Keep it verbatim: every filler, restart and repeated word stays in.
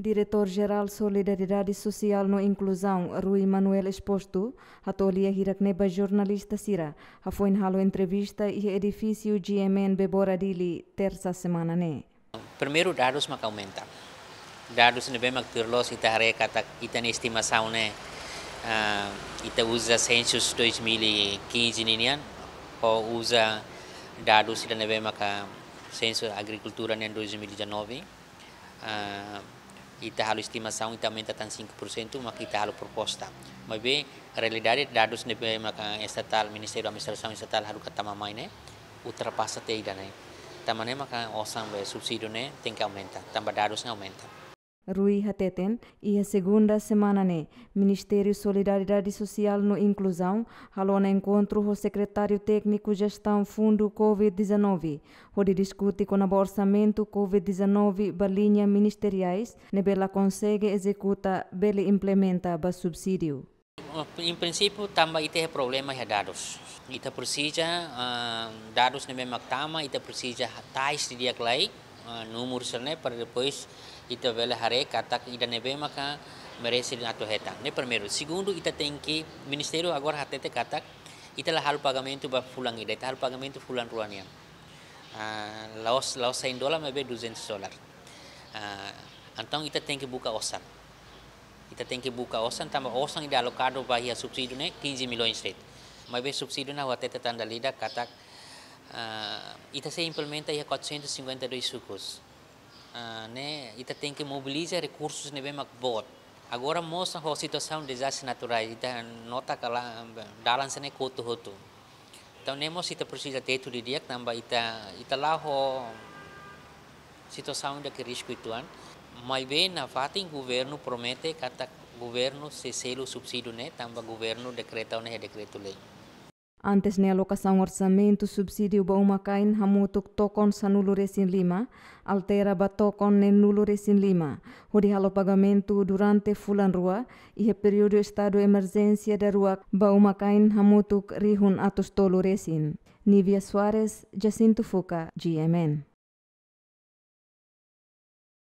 Diretór Jerál Solidariedade Sosiál no Inkluzaun, Rui Manuel Exposto, hato'o lia hirak-ne'e ba jornalista sira, hafoin halo entrevista iha edifísiu G M N Bebora Dili, tersa semana ne'e. Primeiru, dadus maka aumenta. Dadus ne'ebé mak tuir loos ita haree katak ita-nia estimasaun ne'e, ah, ita uza sensus dois mil e quinze ninian, ou uza dadus ida ne'ebé maka sensus agrikultura nian dois mil e dezanove. Ah, ita halo estimasaun, ita aumenta tan cinco por cento, maka ita halo proposta. Maibé realidade dadus ne'ebé maka estatál, Ministériu Administrasaun Estatál haruka tama mai ne'e, ultrapasa tiha ida-ne'e. Tanba ne'e maka osan be subsídiu ne'e tenke aumenta, tanba dadus ne'e aumenta. Rui hateten, iha segunda semana ne'e, Ministériu Solidariedade Sosiál no Inkluzaun halo ona enkontru ho Sekretáriu Tékniku Jestaun Fundu covid dezanove, hodi diskute kona-ba orsamentu covid dezanove ba liña ministeriais ne'ebé la konsege ezekuta bele implementa ba subsídiu. Em princípio, tanba ita iha problema iha dadus. Ita presiza, ah, dadus ne'ebé mak tama, ita presiza tais didi'ak lai, ah, númeru sira-ne'e, para depois ita bele haree katak ida ne'ebé maka merese atu hetan. Ne'e primeiru. Segundu, ita tenke, Ministériu agora hatete katak ita la halo pagamentu ba fulan ida, ita halo pagamentu fulan rua nian. Ah, la'ós, la'ós cem dólar, maibé duzentos dólar. Ah, entaun ita tenke buka osan. Ita tenke buka osan, tanba osan ida alokadu ba iha subsídiu ne'e quinze milhões de'it. Maibé subsídiu ne'e ha'u hatete tan dala ida katak, ah, ita sei implementa iha quatrocentos e cinquenta e dois sukus. Ah, ne'e ita tenke mobiliza rekursus ne'ebé mak boot. Agora mós ho situasaun dezastre naturais, ita nota katak dalan sira-ne'e kotu hotu. Entaun, ne'e mós ita presiza tetu didi'ak, tanba ita, ita la'o ho situasaun ida ke risku uitoan. Maibé nafatin governu promete katak governu sei selu subsídiu ne'e, tanba governu dekreta ona iha dekretu-lei. Antes ne'e, alokasaun orsamentu subsídiu ba uma-kain hamutuk tokon sanulu-resin-lima, altera ba tokon neenulu-resin-lima, hodi halo pagamentu durante fulan rua, iha períodu estadu emerjénsia daruak ba uma-kain hamutuk rihun atus tolu resin. Nívia Soares, Jacinto Fuca, G M N.